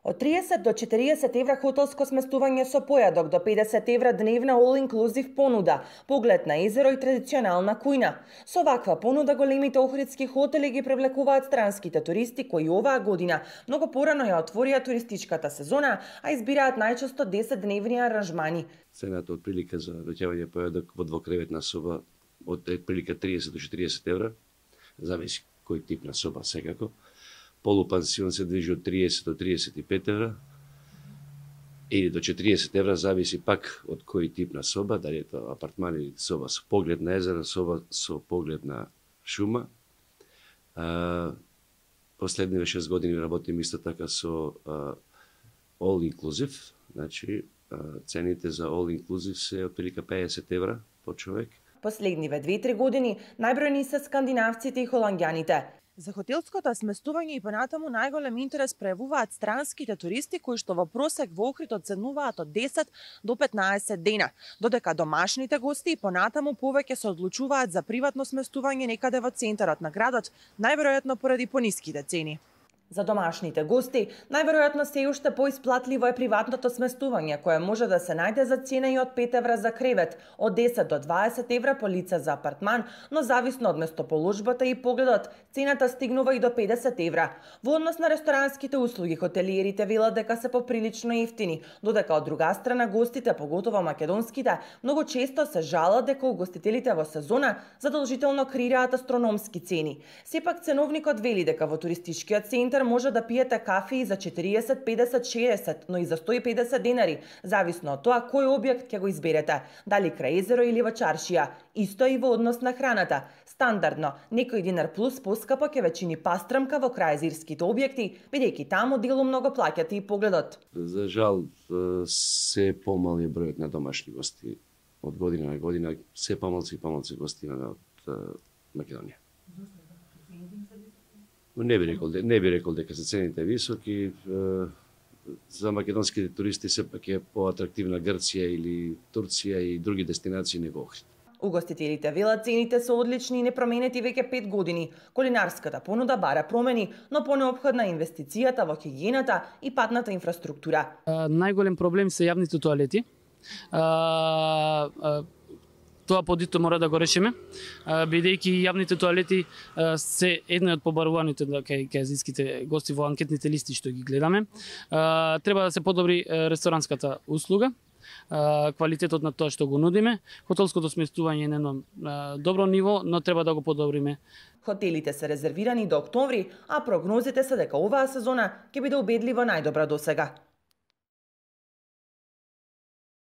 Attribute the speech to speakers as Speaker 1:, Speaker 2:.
Speaker 1: Од 30 до 40 евра хотелско сместување со појадок, до 50 евра дневна all-inclusive понуда, поглед на езеро и традиционална кујна. Со ваква понуда големите охридски хотели ги привлекуваат странските туристи кои оваа година многу порано ја отворија туристичката сезона, а избираат најчесто 10-дневни аранжмани.
Speaker 2: Цената од прилика за доаѓање појадок во двокреветна соба од прилика 30 до 40 евра, зависи кој тип на соба секако. Полупансион се движи од 30 до 35 евра или до 40 евра, зависи пак од кој тип на соба, дали е тоа апартман или соба со поглед на езеро, соба со поглед на шума. Последниве 6 години работим исто така со all inclusive, значи цените за all inclusive се отприлика 50 евра по човек.
Speaker 1: Последниве 2-3 години најбројни се скандинавците и холанѓаните. За хотелското сместување и понатаму најголем интерес пројавуваат странските туристи кои што во просек во Охрид оценуваат од 10 до 15 дена, додека домашните гости и понатаму повеќе се одлучуваат за приватно сместување некаде во центарот на градот, најверојатно поради пониските цени. За домашните гости, најверојатно се уште поисплатливо е приватното сместување, кое може да се најде за цена и од 5 евра за кревет, од 10 до 20 евра по лице за апартман, но зависно од местоположбата и погледот, цената стигнува и до 50 евра. Во однос на ресторанските услуги, хотелиерите велат дека се поприлично ефтини, додека од друга страна гостите, поготово македонските, многу често се жалат дека угостителите во сезона задолжително креираат астрономски цени. Сепак ценовникот вели дека во туристичкиот центар може да пиете кафе и за 40, 50, 60, но и за 150 денари, зависно од тоа кој објект ќе го изберете, дали крај езеро или во чаршија. Исто и во однос на храната. Стандардно, некој динар плюс поскапо ќе ве чини пастрамка во крајезерските објекти, бидејќи таму делу многу плаќате и погледот.
Speaker 2: За жал, се помал е бројот на домашни гости од година на година, се помалци и помалци гости имаме од Македонија. Не би рекол дека се цените високи. За македонските туристи сепак е поатрактивна Грција или Турција и други дестинации него Охрид.
Speaker 1: Угостителите велат цените се одлични и непроменети веќе 5 години. Кулинарската понуда бара промени, но понеопходна е инвестицијата во хигиената и патната инфраструктура.
Speaker 3: Најголем проблем се јавните тоалети. Тоа подито мора да го решиме, бидејќи јавните тоалети се едни од побаруваните кај азијските гости во анкетните листи што ги гледаме. Треба да се подобри ресторанската услуга, квалитетот на тоа што го нудиме. Хотелското сместување е на едно добро ниво, но треба да го подобриме.
Speaker 1: Хотелите се резервирани до октомври, а прогнозите се дека оваа сезона ќе биде убедливо најдобра досега.